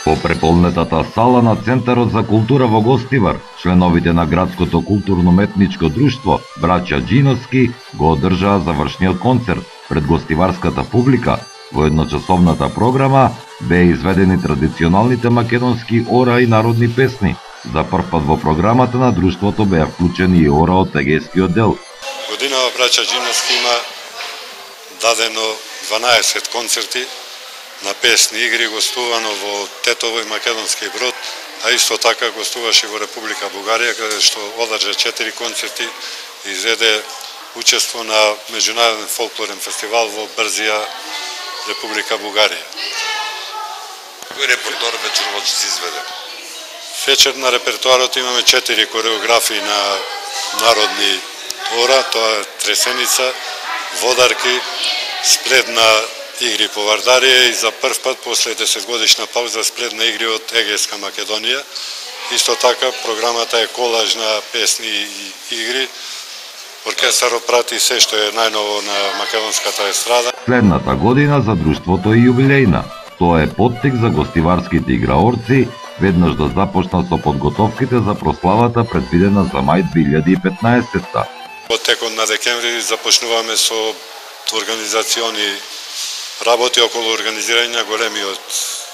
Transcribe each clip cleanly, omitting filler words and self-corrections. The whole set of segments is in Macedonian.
Во преполнетата сала на Центарот за култура во Гостивар, членовите на Градското културно-уметничко друштво Браќа Џиновски го одржаа завршниот концерт пред гостиварската публика. Во едночасовната програма беа изведени традиционалните македонски ора и народни песни. За прв пат во програмата на друштвото беа вклучени и ора од егејскиот дел. Годинава Браќа Џиновски има дадено 12 концерти на песни игри, гостувано во Тетово и Македонски Брод, а исто така гостуваше во Република Бугарија, каде што одржа 4 концерти и изведе учество на меѓународен фолклорен фестивал во Брзија, Република Бугарија. Кој репертоар вечерот ќе се изведе? Вечер на репертоарот имаме 4 кореографии на народни ора, тоа е тресеница, водарки, спредна игри по Вардарија и за прв пат после 10 годишна пауза спредна игри од Егејска Македонија. Исто така програмата е колаж на песни и игри. Оркестарот прати се што е најново на македонската естрада. Следната година за друштвото е јубилејна. Тоа е поттик за гостиварските играорци, веднаш да започнат со подготовките за прославата предвидена за мај 2015-та. Во текот на декември започнуваме со организациони работи околу организирање на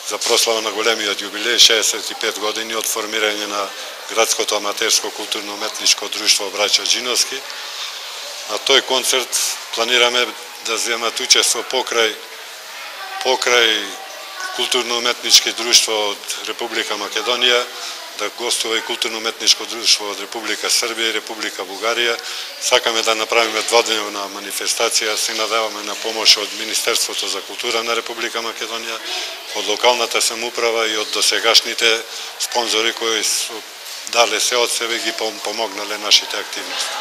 за прослава на големиот јубилеј, 65 години од формирање на Градското аматерско културно-уметничко друштво Браќа Џиновски. На тој концерт планираме да земат учество покрај културно-уметнички друштво од Република Македонија, да гостува и културно-уметничко друштво од Република Србија и Република Бугарија. Сакаме да направиме дводневна манифестација, се надеваме на помош од Министерството за култура на Република Македонија, од локалната самоуправа и од досегашните спонзори кои дале се од себе ги помогнале нашите активности.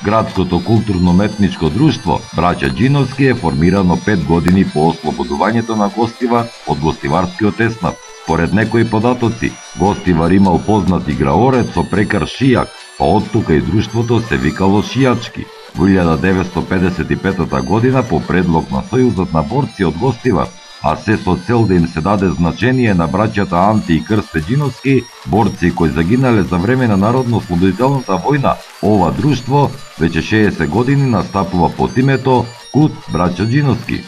Градското културно-уметничко друштво Браќа Џиновски е формирано 5 години по ослободувањето на Гостивар од гостиварскиот еснав. Според некои податоци, Гостивар имал познат играорец со прекар Шијак, па од тука и друштвото се викало Шијачки. Во 1955 година по предлог на Сојузот на борци од Гостивар, а се со цел да им се даде значение на браќата Анти и Крсте Џиновски, борци кои загинале за време на Народно-ослободителната војна, ова друштво веќе 60 години настапува под името Кут Браќа Џиновски.